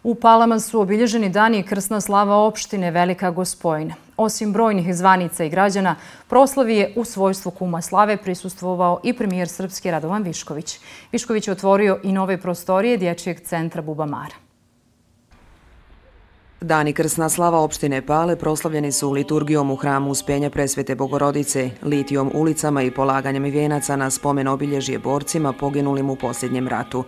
U Palama su obilježeni dani i krsna slava opštine Velika Gospojina. Osim brojnih zvanica i građana, proslavi je u svojstvu kuma slave prisustvovao i premijer Srpske Radovan Višković. Višković je otvorio i nove prostorije Dječjeg centra Bubamara. Dani krsna slava opštine Pale proslavljeni su liturgijom u hramu Uspenja Presvete Bogorodice, litijom ulicama i polaganjem vijenaca na spomen obilježje borcima poginulim u posljednjem ratu.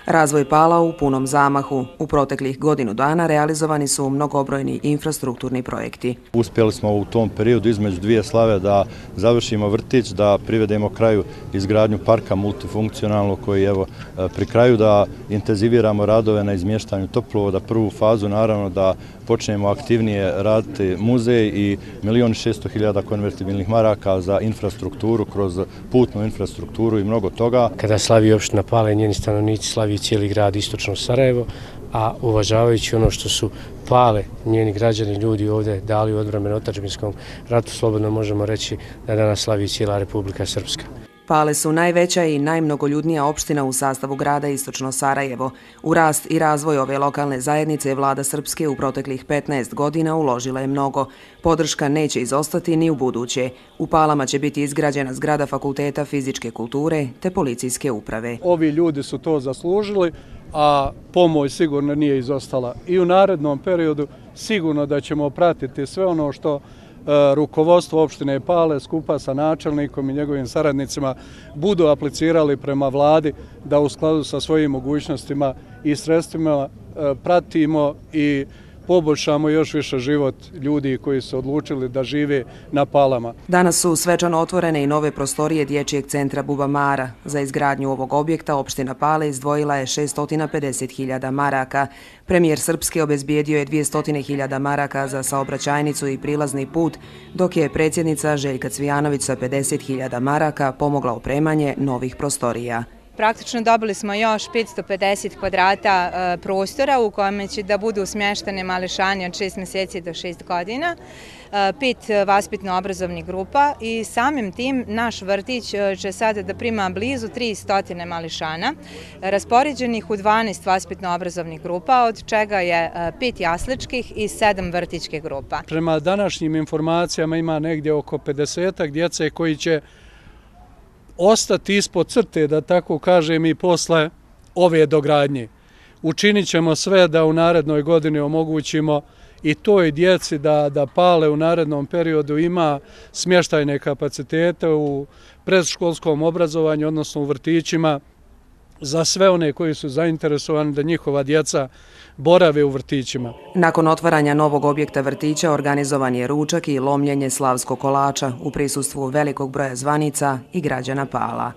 Razvoj Pala u punom zamahu. U proteklih godinu dana realizovani su mnogobrojni infrastrukturni projekti. Uspjeli smo u tom periodu između dvije slave da završimo vrtić, da privedemo kraju izgradnju parka multifunkcionalnog koji je pri kraju, da intenziviramo radove na izmještanju toplovoda, prvu fazu naravno da počnemo aktivnije raditi muzej i 1.600.000 konvertibilnih maraka za infrastrukturu kroz putnu infrastrukturu i mnogo toga. Kada slavi opština Pala i njeni stanovnici slavi cijeli grad istočno Sarajevo, a uvažavajući ono što su Pale, njeni građani, ljudi ovdje dali u odbranu otadžbinskom ratu, slobodno možemo reći da danas slavi cijela Republika Srpska. Pale su najveća i najmnogoljudnija opština u sastavu grada istočno Sarajevo. U rast i razvoj ove lokalne zajednice vlada Srpske u proteklih 15 godina uložila je mnogo. Podrška neće izostati ni u buduće. U Palama će biti izgrađena zgrada Fakulteta fizičke kulture te policijske uprave. Ovi ljudi su to zaslužili, a pomoć sigurno nije izostala. I u narednom periodu sigurno da ćemo pratiti sve ono što rukovodstvo opštine Pale skupa sa načelnikom i njegovim saradnicima budu aplicirali prema vladi da u skladu sa svojim mogućnostima i sredstvima pratimo i poboljšamo još više život ljudi koji su odlučili da žive na Palama. Danas su svečano otvorene i nove prostorije Dječjeg centra Bubamara. Za izgradnju ovog objekta opština Pale izdvojila je 650.000 maraka. Premijer Srpske obezbijedio je 200.000 maraka za saobraćajnicu i prilazni put, dok je predsjednica Željka Cvijanović sa 50.000 maraka pomogla opremanje novih prostorija. Praktično dobili smo još 550 kvadrata prostora u kojima će da budu smještene mališani od 6 mjeseci do 6 godina, 5 vaspitno-obrazovnih grupa i samim tim naš vrtić će sada da prima blizu 300 mališana, raspoređenih u 12 vaspitno-obrazovnih grupa, od čega je 5 jasličkih i 7 vrtićkih grupa. Prema današnjim informacijama ima negdje oko 50 djece koji će ostati ispod crte, da tako kažem, i posle ove dogradnje. Učinit ćemo sve da u narednoj godini omogućimo i toj djeci da Pale u narednom periodu ima smještajne kapacitete u predškolskom obrazovanju, odnosno u vrtićima, za sve one koji su zainteresovani da njihova djeca borave u vrtićima. Nakon otvaranja novog objekta vrtića organizovan je ručak i lomljenje slavskog kolača u prisustvu velikog broja zvanica i građana Pala.